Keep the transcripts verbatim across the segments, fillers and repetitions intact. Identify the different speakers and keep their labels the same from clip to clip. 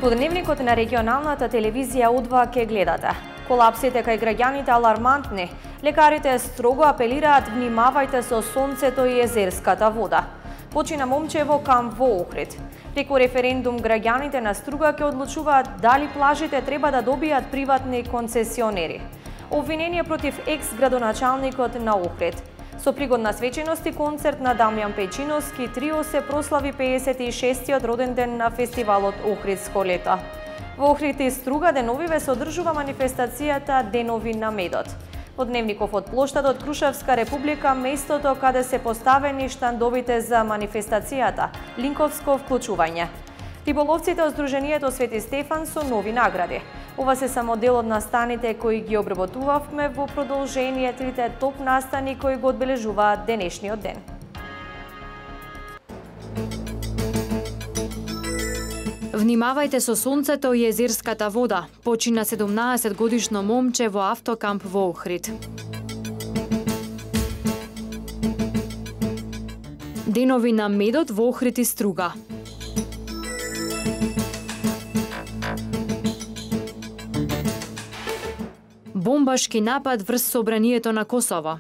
Speaker 1: Подневникот на регионалната телевизија У два ке гледате. Колапсите кај граѓаните алармантни. Лекарите строго апелираат: внимавајте со сонцето и езерската вода. Почина момчево камп во Охрид. Преку референдум граѓаните на Струга ќе одлучуваат дали плажите треба да добијат приватни концесионери. Обвинение против екс-градоначалникот на Охрид. Со пригодна свеченост и концерт на Дамјан Пејчиновски трио се прослави пеесет и шестиот роден ден на фестивалот Охридско лето. Во Охрид и Струга деновиве се одржува манифестацијата Денови на медот. Подневников од плоштадот Крушевска република, местото каде се поставени штандовите за манифестацијата, линковско вклучување. Риболовците од Сдруженијето Свети Стефан со нови награди. Ова се само дел од настаните кои ги обработувавме во продолжение трите топ настани кои го одбележуваат денешниот ден.
Speaker 2: Внимавајте со сонцето и езерската вода. Почина седумнаесет годишно момче во автокамп во Охрид. Денови на медот во Охрид и Струга. Бомбашки напад врз собранието на Косово.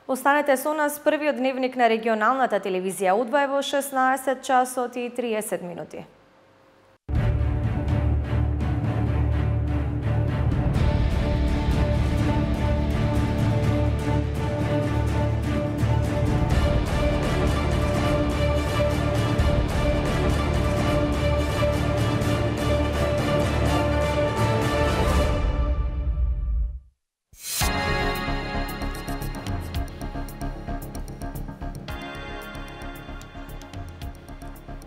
Speaker 1: Останете со нас, првиот дневник на регионалната телевизија У два е во шеснаесет часот и триесет минути.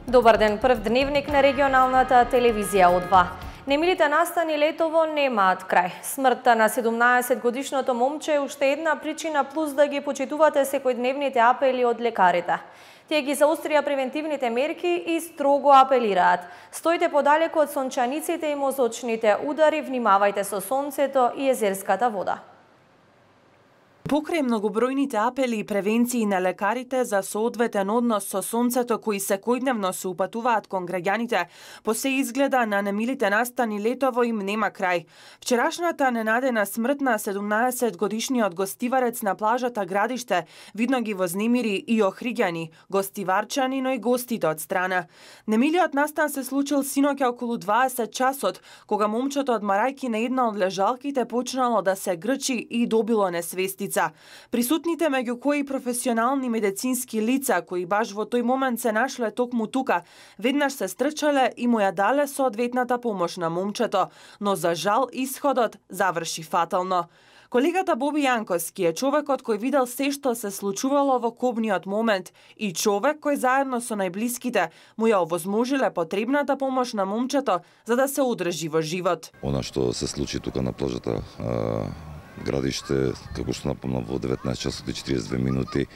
Speaker 1: Добар ден, прв дневник на регионалната телевизија У два. Немилите настани летово немаат крај. Смртта на седумнаесет годишното момче е уште една причина плюс да ги почитувате секојдневните апели од лекарите. Тие ги заострија превентивните мерки и строго апелираат: стоите подалеку од сончаниците и мозочните удари, внимавајте со сонцето и езерската вода.
Speaker 3: Покрај многобројните апели и превенции на лекарите за соодветен однос со сонцето кои секојдневно се упатуваат кон граѓаните, по се изгледа на немилите настани летово им нема крај. Вчерашната ненадена смрт на седумнаесет годишниот гостиварец на плажата Градиште видно ги вознемири и охриѓани, гостиварчани, но и гостите од страна. Немилиот настан се случил синоќа околу дваесет часот, кога момчето од марајки на една од лежалките почнало да се грчи и добило несвестица. Присутните, меѓу кои професионални медицински лица, кои баш во тој момент се нашле токму тука, веднаш се стрчале и му ја дале соодветната помош на момчето, но за жал исходот заврши фатално. Колегата Боби Јанковски е човекот кој видел се што се случувало во кобниот момент и човек кој заедно со најблиските му ја овозможиле потребната помош на момчето за да се одржи во живот.
Speaker 4: Она што се случи тука на плажата Градиште, како што напомнам, во деветнаесет часот и четириесет две минути,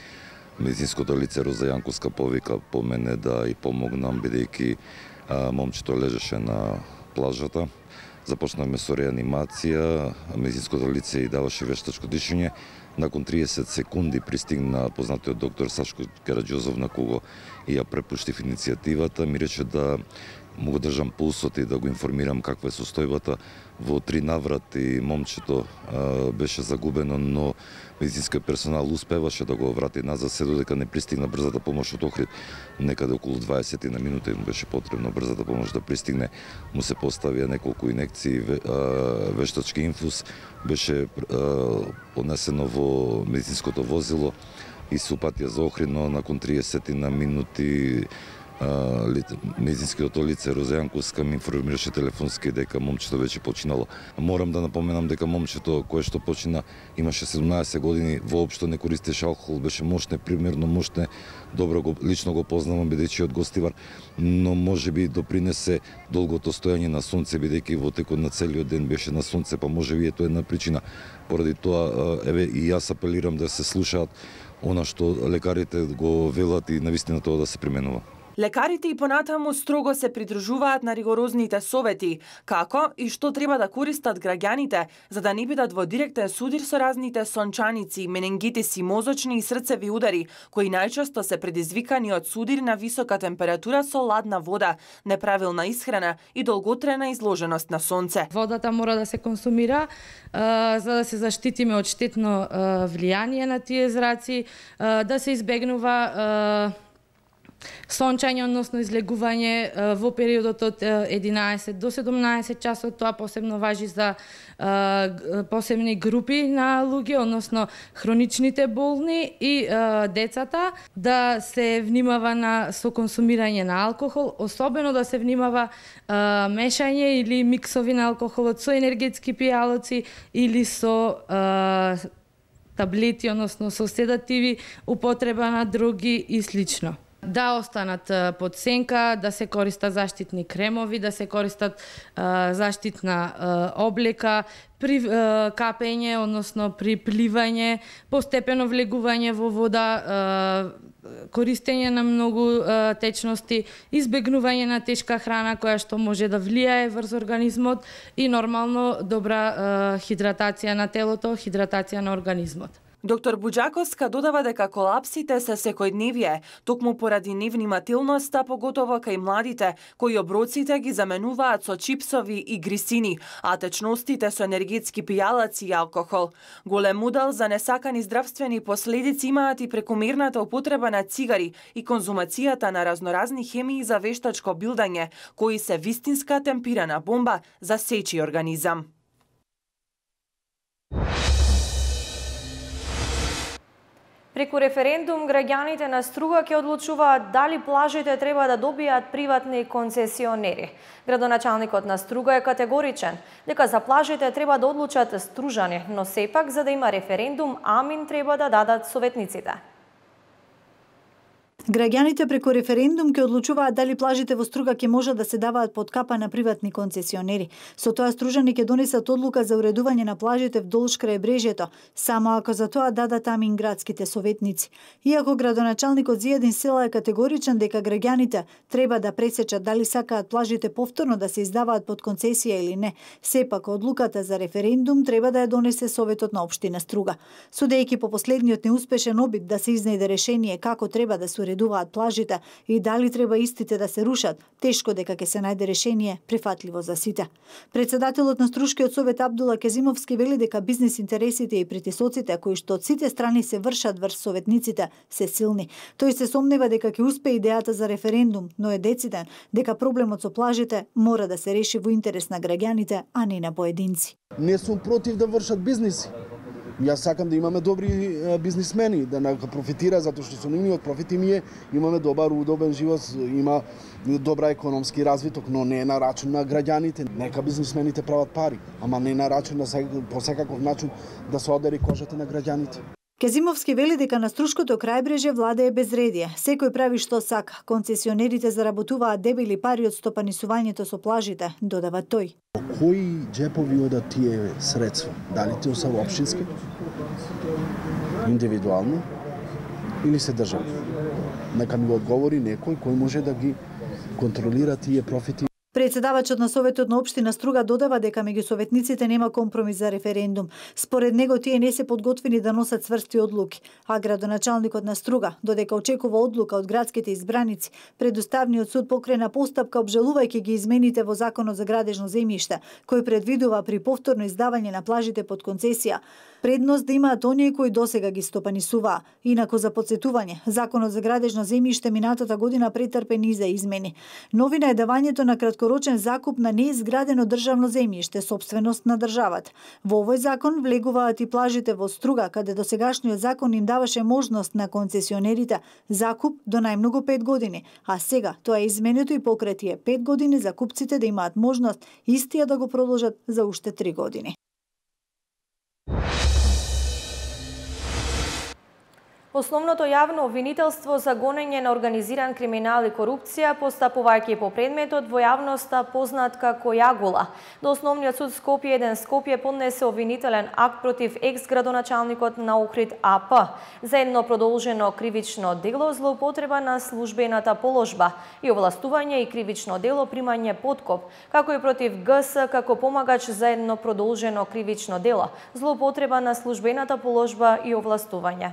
Speaker 4: медицинското лице Роза Јанковска повика по мене да и помогнам, бидејќи момчето лежеше на плажата. Започнавме со реанимација, медицинското лице и даваше вештачко дишење. Након триесет секунди пристигна познатиот доктор Сашко Караџозов, на кого и ја препуштив иницијативата. Ми рече да му го држам пулсот и да го информирам каква е состојбата. Во три наврати момчето а, беше загубено, но медицинскиот персонал успеваше да го врати назад, се додека не пристигна брзата помош од Охрид. Некаде околу дваесет на минути му беше потребно брзата помош да пристигне. Му се поставија неколку инекции, вештачки инфуз, беше а, понесено во медицинското возило и се упатија за Охрид, но након триесет на минути медицинскиот лице Роза Јанковска ми информираше телефонски дека момчето веќе починало. Морам да напоменам дека момчето кое што почина имаше седумнаесет години, воопшто не користеше алкохол, беше мошне, примерно мошне, добро го лично го познавам бидејќи од гостивар, но можеби допринесе долгото стојање на сонце бидејќи во текот на целиот ден беше на сонце, па можеби ето една причина. Поради тоа еве и јас апелирам да се слушаат она што лекарите го велат и навистина тоа да се применува.
Speaker 3: Лекарите и понатаму строго се придружуваат на ригорозните совети, како и што треба да користат граѓаните за да не бидат во директен судир со разните сончаници, менингитиси, мозочни и срцеви удари, кои најчесто се предизвикани од судир на висока температура со ладна вода, неправилна исхрана и долготрена изложеност на сонце.
Speaker 5: Водата мора да се консумира а, за да се заштитиме од штетно а, влијание на тие зраци, а, да се избегнува а, сончање, односно излегување во периодот од единаесет до седумнаесет часот. Тоа посебно важи за а, посебни групи на луѓе, односно хроничните болни и а, децата, да се внимава на со консумирање на алкохол, особено да се внимава а, мешање или миксови на алкохолот со енергетски пијалоци или со а, таблети, односно со седативи, употреба на дроги и слично. Да останат под сенка, да се користат заштитни кремови, да се користат а, заштитна а, облека, при а, капење, односно при пливање, постепено влегување во вода, а, користење на многу а, течности, избегнување на тешка храна која што може да влијае врз организмот и нормално добра а, хидратација на телото, хидратација на организмот.
Speaker 3: Доктор Буџаковска додава дека колапсите се секојдневие, токму поради невнимателноста, поготово кај младите, кои оброците ги заменуваат со чипсови и грисини, а течностите со енергетски пијалаци и алкохол. Голем удел за несакани здравствени последици имаат и прекомерната употреба на цигари и конзумацијата на разноразни хемии за вештачко билдање, кои се вистинска темпирана бомба за сечи организам.
Speaker 1: Преку референдум, граѓаните на Струга ќе одлучуваат дали плажите треба да добијат приватни концесионери. Градоначалникот на Струга е категоричен дека за плажите треба да одлучат стружани, но сепак за да има референдум, амин треба да дадат советниците.
Speaker 6: Граѓаните преку референдум ќе одлучуваат дали плажите во Струга ќе можат да се даваат под капа на приватни концесионери. Со тоа стружани ќе донесат одлука за уредување на плажите вдолж крајбрежјето, само ако за тоа дадат амин градските советници. Иако градоначалникот Зијадин Села е категоричен дека граѓаните треба да пресечат дали сакаат плажите повторно да се издаваат под концесија или не, сепак одлуката за референдум треба да ја донесе Советот на општина Струга. Судејќи по последниот неуспешен обид да се изнајде решение како треба да се уредуваат плажите и дали треба истите да се рушат, тешко дека ќе се најде решение прифатливо за сите. Председателот на Струшкиот совет Абдула Кезимовски вели дека бизнис интересите и притисоците кои што од сите страни се вршат врз советниците се силни. Тој се сомнева дека ќе успее идејата за референдум, но е дециден дека проблемот со плажите мора да се реши во интерес на граѓаните, а не на поединци.
Speaker 7: Не сум против да вршат бизниси. Јас сакам да имаме добри бизнисмени, да не профитира, затоа што со нивниот профит и ние имаме добар, удобен живот, има добра економски развиток, но не на рачун на граѓаните. Нека бизнисмените прават пари, ама не на рачун на по секаков начин да се одери кожата на граѓаните.
Speaker 6: Кезимовски вели дека на Струшкото крајбрежје владее безредие. Секој прави што сака. Концесионерите заработуваат дебели пари од стопанисувањето со плажите, додава тој.
Speaker 7: Кои џепови одат тие средства? Дали тие се општински? Индивидуално? Или се државни? Нека ми го одговори некој кој може да ги контролира тие профити.
Speaker 6: Председавачот на Советот на општина Струга додава дека меѓу советниците нема компромис за референдум. Според него тие не се подготвени да носат цврсти одлуки, а градоначалникот на Струга, додека очекува одлука од градските избраници, предуставниот суд покрена постапка обжалувајќи ги измените во Законот за градежно земјиште, кој предвидува при повторно издавање на плажите под концесија предност да имаат оние кои досега ги стопанисуваа. Инаку за потсетување, Законот за градежно земјиште минатата година претрпе низа измени. Новина е давањето на краткорочен закуп на неизградено државно земјиште, сопственост на државата. Во овој закон влегуваат и плажите во Струга, каде досегашниот закон им даваше можност на концесионерите закуп до најмногу пет години, а сега тоа е изменето и покрај тие пет години за купците да имаат можност истија да го продолжат за уште три години.
Speaker 1: Основното јавно обвинителство за гонење на организиран криминал и корупција, постапувајќи по предметот во јавноста познат како Јагула. До Основниот суд Скопје еден Скопје поднесе обвинителен акт против екс-градоначалникот на Охрид А П за едно продолжено кривично дело злоупотреба на службената положба и овластување и кривично дело примање подкоп, како и против Г С како помагач за едно продолжено кривично дело злоупотреба на службената положба и овластување.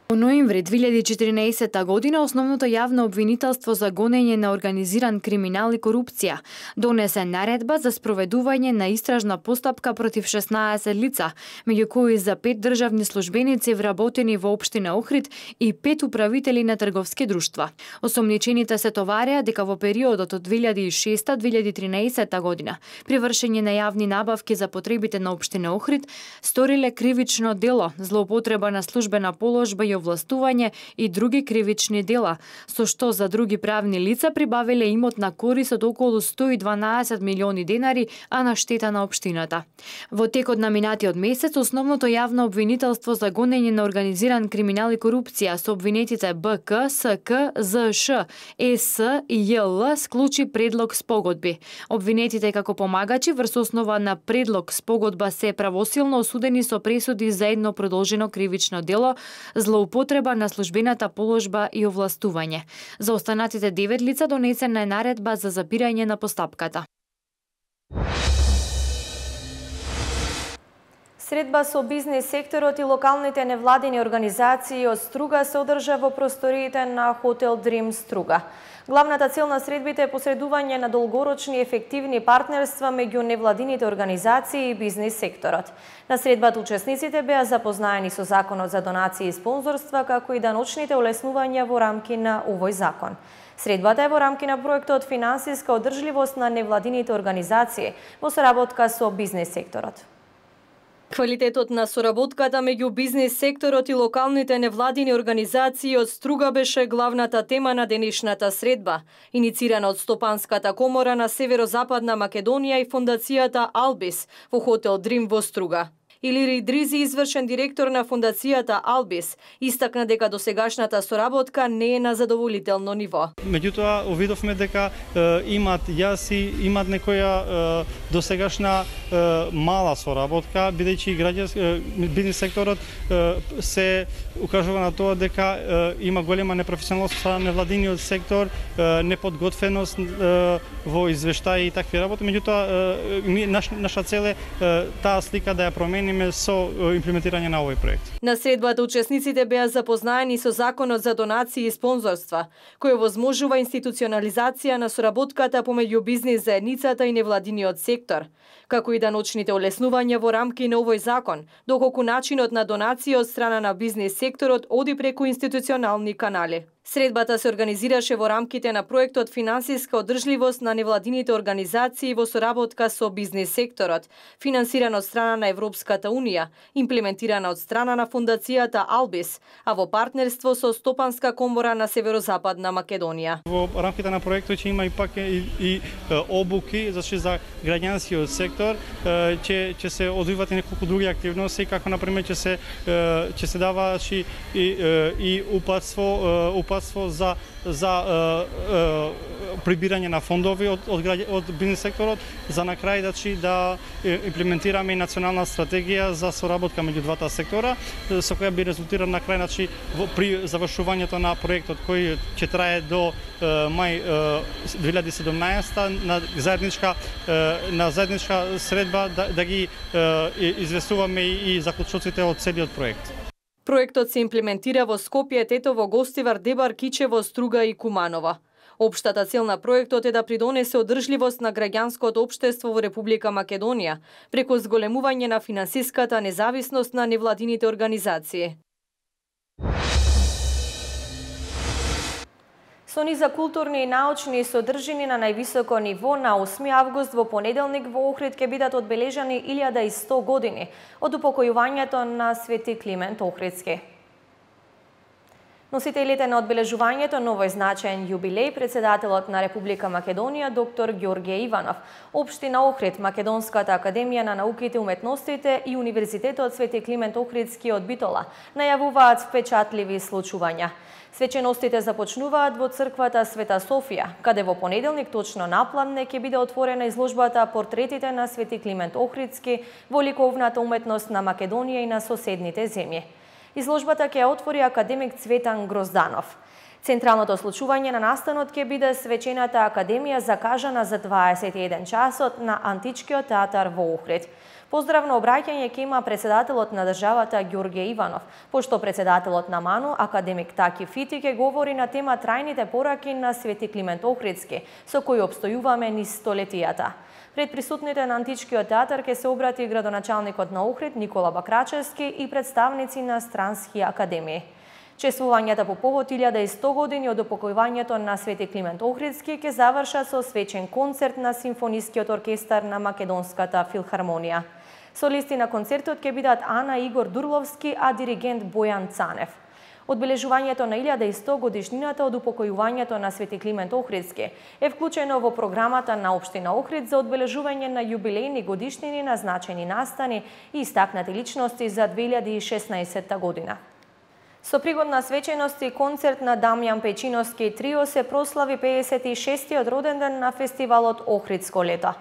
Speaker 2: Во ноември две илјади и четиринаесетта година основното јавно обвинителство за гонење на организиран криминал и корупција донесе наредба за спроведување на истражна постапка против шеснаесет лица, меѓу кои за пет државни службеници вработени во општина Охрид и пет управители на трговски друштва. Осомничените се товареа дека во периодот од две илјади и шеста до две илјади и тринаесетта година при вршење на јавни набавки за потребите на општина Охрид сториле кривично дело, злоупотреба на службена положба и овластување и други кривични дела, со што за други правни лица прибавиле имот на корис од околу сто и дванаесет милиони денари, а на штета на општината. Во текот на минатиот месец, основното јавно обвинителство за гонење на организиран криминал и корупција со обвинетите Б К, С К, З Ш, Е С и Ј Л склучи предлог спогодби. Обвинетите како помагачи врз основа на предлог спогодба се правосилно осудени со пресуди за едно продолжено кривично дело, злоупотреба на службената положба и овластување. За останатите девет лица донесена е наредба за запирање на постапката.
Speaker 1: Средба со бизнис секторот и локалните невладини организации од Струга се одржа во просториите на Хотел Дрим Струга. Главната цел на средбите е посредување на долгорочни ефективни партнерства меѓу невладините организации и бизнис секторот. На средбата учесниците беа запознаени со Законот за донации и спонзорства, како и даночните олеснувања во рамки на овој закон. Средбата е во рамки на проектот Финансиска одржливост на невладините организации во соработка со бизнис секторот. Квалитетот на соработката меѓу бизнис секторот и локалните невладини организации од Струга беше главната тема на денешната средба, иницирана од Стопанската комора на Северозападна Македонија и фондацијата Албис во Хотел Дрим во Струга. Илири Дризи, извршен директор на фондацијата Албис, истакна дека досегашната соработка не е на задоволително ниво.
Speaker 8: Меѓутоа, увидовме дека е, имат јаси, имат некоја е, досегашна е, мала соработка, бидејќи граѓански бизнис секторот е, се укажува на тоа дека е, има голема непрофесионалност со невладиниот сектор, е, неподготвеност е, во извештаи и такви работи. Меѓутоа, е, наш, наша цел е, е таа слика да ја промени со имплементирање на овој проект.
Speaker 1: На средбата учесниците беа запознаени со Законот за донации и спонзорства, кој возможува институционализација на соработката помеѓу бизнис заедницата и невладиниот сектор, како и даночните олеснувања во рамки на овој закон, доколку начинот на донација од страна на бизнис секторот оди преку институционални канали. Средбата се организираше во рамките на проектот Финансиска одржливост на невладините организации во соработка со бизнис секторот, финансиран од страна на Европската Унија, имплементирана од страна на фондацијата Албис, а во партнерство со Стопанска комора на Северозападна Македонија.
Speaker 8: Во рамките на проектот ќе има и пак и, и обуки зашто за граѓанскиот сектор, ќе ќе се одвиват и неколку други активности, како на пример ќе се ќе се дава и и упатство упатство за за е, е, прибирање на фондови од од, од бизнис секторот, за на крај значи да имплементираме и национална стратегија за соработка меѓу двата сектора, со која би резултирала на крај значи при завршувањето на проектот кој ќе трае до е, мај е, две илјади и седумнаесетта на заедничка е, на заедничка средба да, да ги е, известуваме и, и заклучоците од целиот проект.
Speaker 1: Проектот се имплементира во Скопје, Тетово, Гостивар, Дебар, Кичево, Струга и Куманово. Општата цел на проектот е да придонесе одржливост на граѓанското општество во Република Македонија, преку зголемување на финансиската независност на невладините организации. Со низа културни и научни содржини на највисоко ниво на осми август во понеделник во Охрид ќе бидат одбележани илјада и сто години од упокојувањето на Свети Климент Охридски. Носителите на одбележувањето на овој значаен јубилеј, председателот на Република Македонија доктор Ѓорѓе Иванов, Општина Охрид, Македонската академија на науките и уметностите и Универзитетот Свети Климент Охридски од Битола најавуваат впечатливи случувања. Свеченостите започнуваат во црквата Света Софија, каде во понеделник точно напладне ќе биде отворена изложбата Портретите на Свети Климент Охридски во ликовната уметност на Македонија и на соседните земји. Изложбата ќе отвори академик Цветан Грозданов. Централното случување на настанот ќе биде свечената академија закажана за дваесет и еден часот на Античкиот театар во Охрид. Поздравно обраќање ќе има председателот на државата Ѓорѓе Иванов, пошто председателот на МАНУ, академик Таки Фити, ќе говори на тема трајните пораки на Свети Климент Охридски, со кои обстојуваме низ столетијата. Пред присутните на Античкиот театар ќе се обрати градоначалникот на Охрид Никола Бакрачевски и представници на странски академии. Чествувањата по повод илјада и сто години од упокојувањето на Свети Климент Охридски ќе завршат со свечен концерт на Симфонискиот оркестар на Македонската филхармонија. Солисти на концертот ќе бидат Ана Игор Дурловски, а диригент Бојан Цанев. Одбележувањето на илјада и сто годишнината од упокојувањето на Свети Климент Охридски е вклучено во програмата на Општина Охрид за одбележување на јубилејни годишнини на значени настани и истакнати личности за две илјади и шеснаесетта година. Со пригодна свеченост и концерт на Дамјан Печиновски трио се прослави пеесет и шестиот роден ден на фестивалот Охридско лето.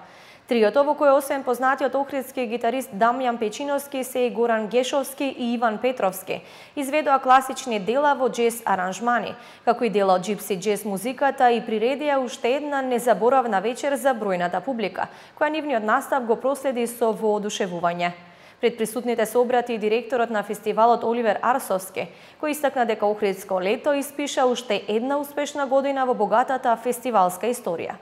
Speaker 1: Триото, во кој освен познатиот охридски гитарист Дамјан Печиновски се и Горан Гешовски и Иван Петровски, изведоа класични дела во джез аранжмани, како и дела од джипси джез музиката и приредија уште една незаборавна вечер за бројната публика, која нивниот настав го проследи со воодушевување. Пред присутните се обрати и директорот на фестивалот Оливер Арсовски, кој истакна дека Охридско лето испиша уште една успешна година во богатата фестивалска историја.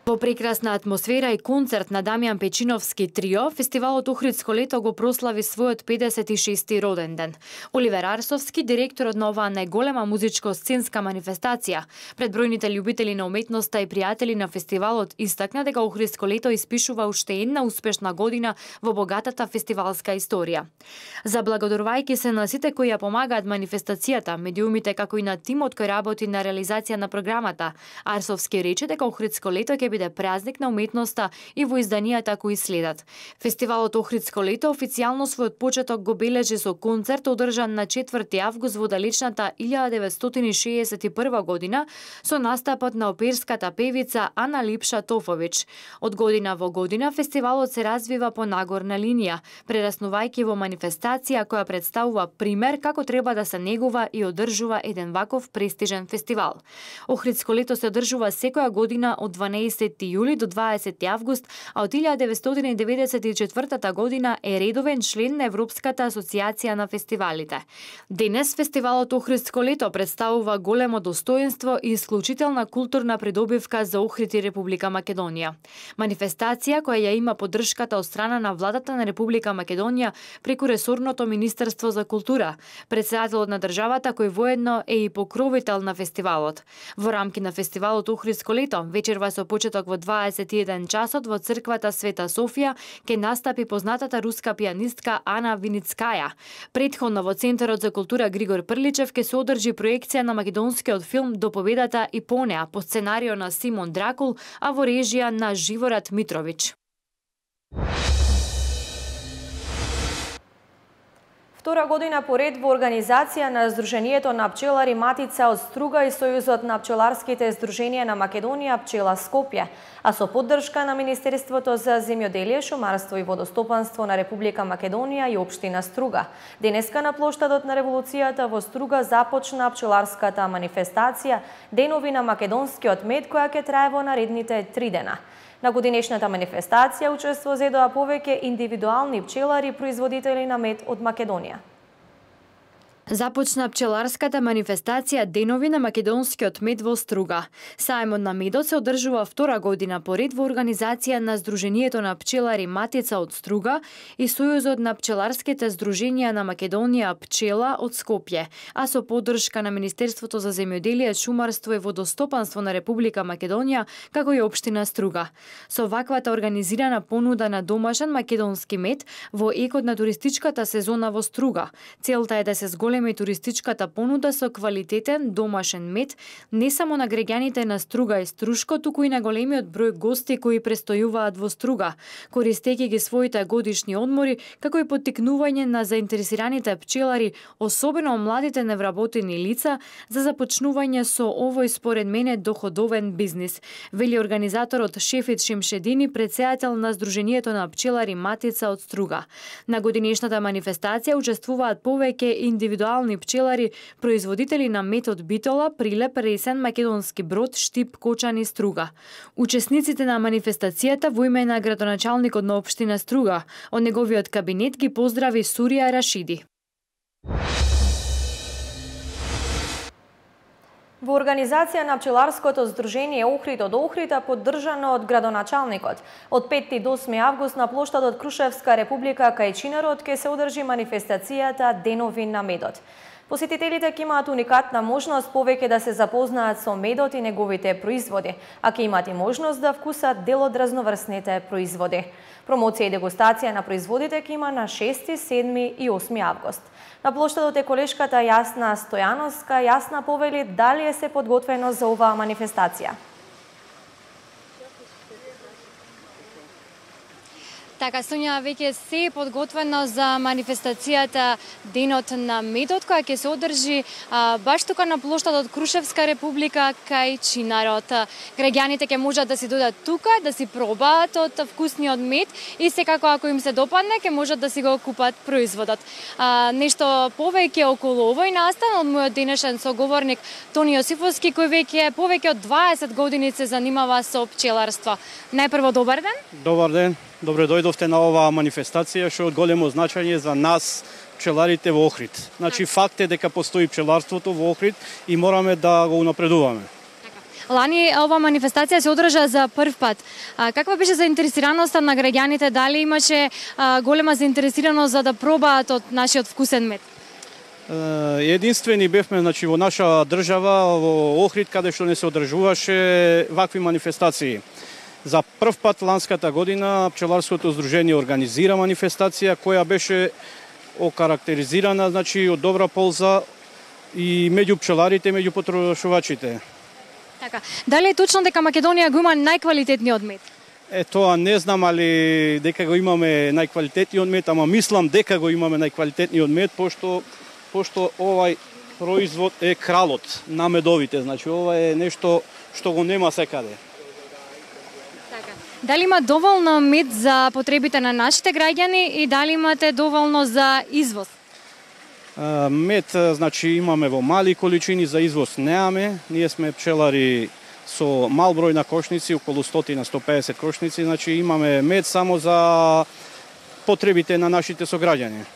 Speaker 2: Во прекрасна атмосфера и концерт на Дамјан Печиновски трио, фестивалот Охридско лето го прослави својот педесет и шести роден ден. Оливер Арсовски, директорот на оваа најголема музичко-сценска манифестација, пред бројните љубители на уметноста и пријатели на фестивалот, истакна дека Охридско лето испишува уште една успешна година во богатата фестивалска историја. Заблагодарувајќи се на сите кои ја помагаат манифестацијата, медиумите како и на тимот кој работи на реализација на програмата, Арсовски рече дека Охридско лето ќе биде празник на уметноста и во изданијата кои следат. Фестивалот Охридско лето официјално својот почеток го бележи со концерт одржан на четврти август во далечната илјада деветстотини и шеесет и прва година со настапот на оперската певица Ана Липша Тофович. Од година во година фестивалот се развива по нагорна линија, прераснувајќи во манифестација која представува пример како треба да се негува и одржува еден ваков престижен фестивал. Охридско лето се одржува секоја година од дванаесети јули до дваесети август, а од илјада деветстотини деветдесет и четвртата година е редовен член на Европската асоциација на фестивалите. Денес фестивалот Охридско лето представува големо достоинство и исклучителна културна придобивка за Охрид и Република Македонија. Манифестација која ја има поддршката од страна на владата на Република Македонија преку ресорното Министерство за култура, председателот на државата кој воедно е и покровител на фестивалот. Во рамки на фестивалот Охридско лето, вечерва со почеток во дваесет и еден часот во црквата Света Софија ќе настапи познатата руска пианистка Ана Виницкаја. Претходно во Центарот за култура Григор Прличев ќе се одржи проекција на македонскиот филм До победата и по неа по сценарио на Симон Дракул, а во режија на Живорад Митрович.
Speaker 1: Втора година поред во организација на Сдруженијето на пчелари Матица од Струга и Сојузот на пчеларските здруженија на Македонија Пчела Скопје, а со поддршка на Министерството за земјоделие, шумарство и водостопанство на Република Македонија и Општина Струга. Денеска на плоштадот на Револуцијата во Струга започна пчеларската манифестација Денови на македонскиот мед, која ќе трае во наредните три дена. На годинешната манифестација учество зедоа повеќе индивидуални пчелари производители на мед од Македонија.
Speaker 2: Започна пчеларската манифестација Денови на македонскиот мед во Струга. Сајмот на медот се одржува втора година поред во организација на Сдруженијето на пчелари Матица од Струга и Сојузот на пчеларските здруженија на Македонија Пчела од Скопје, а со поддршка на Министерството за земјоделие, шумарство и водостопанство на Република Македонија, како и Општина Струга. Со ваквата организирана понуда на домашен македонски мед во екот на туристичката сезона во Струга, целта е да се зголеми зголеми туристичката понуда со квалитетен домашен мед не само на граѓаните на Струга и Струшко, туку и на големиот број гости кои престојуваат во Струга, користејќи ги своите годишни одмори, како и поттикнување на заинтересираните пчелари, особено младите невработени лица, за започнување со овој според мене доходовен бизнис, вели организаторот Шефит Шимшедини, претседател на Сдруженијето на пчелари Матица од Струга. На годинешната манифестација учествуваат повеќе индивидуални пчелари, производители на мед од Битола, Прилеп, Ресен, Македонски Брод, Штип, Кочан и Струга. Учесниците на манифестацијата во име на градоначалникот на општина Струга, од неговиот кабинет ги поздрави Сурија Рашиди.
Speaker 1: Во организација на пчеларското здружение Охрид од Охрида, поддржано од градоначалникот, од петти до осми август на плоштадот Крушевска република кај Чинарот ќе се одржи манифестацијата Денови на медот. Посетителите ќе имаат уникатна можност повеќе да се запознаат со медот и неговите производи, а ќе имаат и можност да вкусат дел од разноврсните производи. Промоција и дегустација на производите ќе има на шести, седми и осми август. На плоштадот е колешката Јасна Стојановска. Јасна, повели дали е се подготвено за оваа манифестација?
Speaker 9: Така, Сонја, веќе се е подготвено за манифестацијата Денот на медот, која ќе се одржи а, баш тука на плоштадот Крушевска република кај Чинарот. Граѓаните ќе можат да си додат тука, да си пробаат од вкусниот мед и секако ако им се допадне, ќе можат да си го купат производот. А, нешто повеќе околу овој настан од мојот денешен соговорник Тони Јосифовски, кој веќе повеќе од дваесет години се занимава со пчеларство. Најпрво, добар ден.
Speaker 10: Добар ден. Добре дојдовте на оваа манифестација, што е од големо значење за нас, пчеларите во Охрид. Значи, факт е дека постои пчеларството во Охрид и мораме да го унапредуваме.
Speaker 9: Лани ова манифестација се одржа за прв пат. А, каква беше заинтересираноста на граѓаните? Дали имаше а, голема заинтересираност за да пробаат од нашиот вкусен мед?
Speaker 10: Единствени бевме, значи, во наша држава, во Охрид, каде што не се одржуваше вакви манифестации. За прв пат ланската година пчеларското здружение организира манифестација која беше окарактеризирана, значи, од добра полза и меѓу пчеларите, меѓу потрошувачите.
Speaker 9: Така. Дали е точно дека Македонија го има најквалитетниот мед?
Speaker 10: Е, тоа не знам, али дека го имаме најквалитетниот мед, ама мислам дека го имаме најквалитетниот мед, пошто, пошто овај производ е кралот на медовите. Значи, ова е нешто што го нема секаде.
Speaker 9: Дали има доволно мед за потребите на нашите граѓани и дали имате доволно за извоз?
Speaker 10: Мед, значи, имаме во мали количини, за извоз неаме. Ние сме пчелари со мал број на кошници, околу сто до сто и песет кошници, значи имаме мед само за потребите на нашите сограѓани.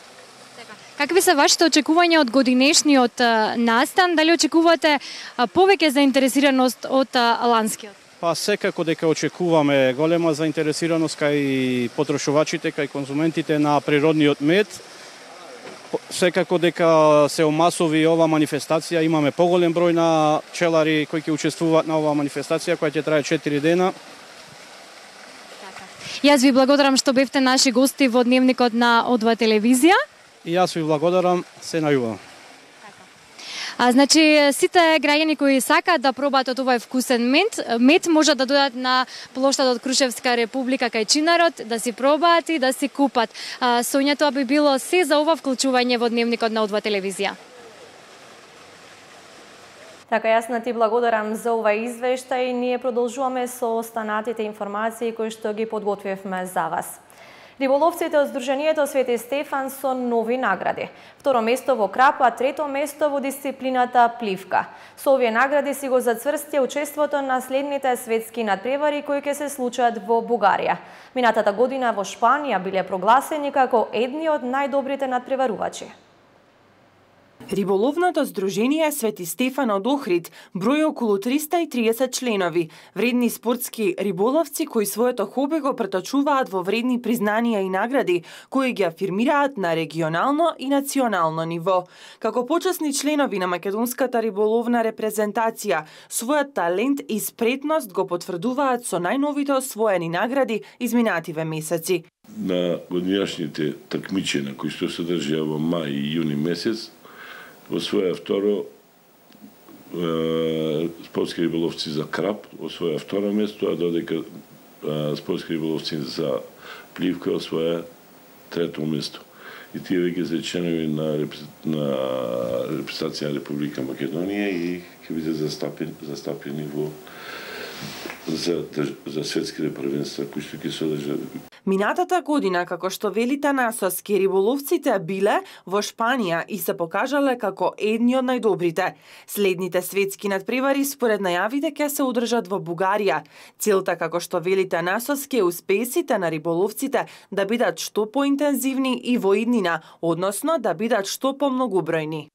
Speaker 9: Какви се вашите очекувања од годинешниот настан? Дали очекувате повеќе заинтересираност од ланскиот?
Speaker 10: Па секако дека очекуваме голема заинтересираност кај потрошувачите, кај конзументите на природниот мед. Секако дека се омасови ова манифестација, имаме поголем број на пчелари кои ќе учествуваат на оваа манифестација, која ќе трае четири дена.
Speaker 9: Јас ви благодарам што бевте наши гости во дневникот на О два телевизија.
Speaker 10: И јас ви благодарам, се најубаво.
Speaker 9: А, значи, сите граѓани кои сакаат да пробаат од овој вкусен мед, мед можат да дојдат на плоштадот Крушевска република кај Чинарот, да си пробаат и да си купат. А, Сонја, тоа би било се за ова вклучување во дневникот на О два телевизија.
Speaker 1: Така, Јасна, ти благодарам за овај извештај. Ние продолжуваме со останатите информации кои што ги подготвивме за вас. Риболовците од Сдруженијето Свети Стефан со нови награди. Второ место во крап, а трето место во дисциплината пливка. Со овие награди си го зацврсти учеството на следните светски надпревари кои ќе се случат во Бугарија. Минатата година во Шпанија биле прогласени како едни од најдобрите надпреварувачи.
Speaker 3: Риболовното здружение Свети Стефан од Охрид брои околу триста и триесет членови, вредни спортски риболовци кои своето хоби го преточуваат во вредни признанија и награди, кои ги афирмираат на регионално и национално ниво. Како почесни членови на македонската риболовна репрезентација, својот талент и спретност го потврдуваат со најновите освоени награди изминативе месеци.
Speaker 11: На годинашните такмичења кои што се држија во мај и јуни месец, освоја второ спортски риболовци за краб, освоја второ место, а додека спортски риболовци за пливка освоја трето место. И тие веќе се членови на, на репрезентација на Република Македонија и ќе биде застапени, застапени во за, за светските првенства кои што ќе се одржат.
Speaker 3: Минатата година, како што вели Танасовски, риболовците биле во Шпанија и се покажале како едни од најдобрите. Следните светски надпревари според најавите ќе се одржат во Бугарија. Целта, како што вели Танасовски, е успесите на риболовците да бидат што поинтензивни и во иднина, односно да бидат што помногубројни.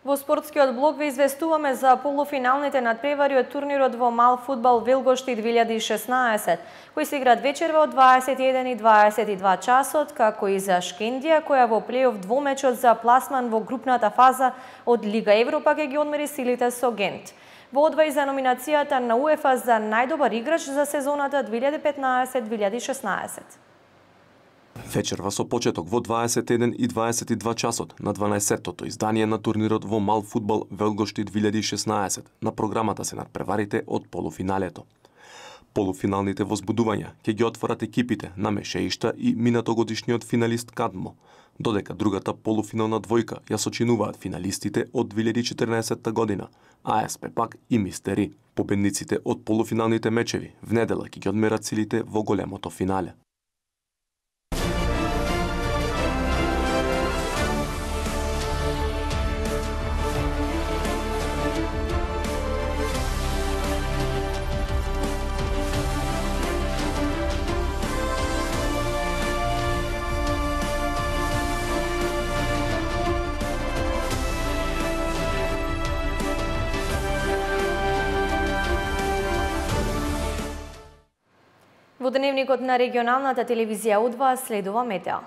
Speaker 1: Во спортскиот блок ве известуваме за полуфиналните надпревари од турнирот во мал фудбал Велгошти две илјади и шеснаесет, кои се играат вечерва од дваесет и еден и дваесет и два часот, како и за Шкендија, која во плейоф двомечот за пласман во групната фаза од Лига Европа ќе ги одмери силите со Гент. Во одвај за номинацијата на УЕФА за најдобар играч за сезоната две илјади и петнаесет две илјади и шеснаесет.
Speaker 12: Вечерва со почеток во дваесет и еден и дваесет и два часот на дванаесеттото издание на турнирот во мал фудбал Велгошти две илјади и шеснаесет на програмата се надпреварите од полуфиналето. Полуфиналните возбудувања ќе ги отворат екипите на Мешеишта и минатогодишниот финалист Кадмо, додека другата полуфинална двојка ја сочинуваат финалистите од две илјади и четрнаесетта година, А С П пак и Мистери. Победниците од полуфиналните мечеви в недела ќе ги одмерат силите во големото финале.
Speaker 1: Во дневникот на регионалната телевизија У два следува метео.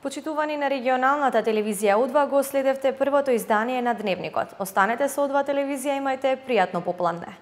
Speaker 1: Почитувани на регионалната телевизија У два, го следевте првото издание на Дневникот. Останете со У два телевизија, имајте пријатно попладне.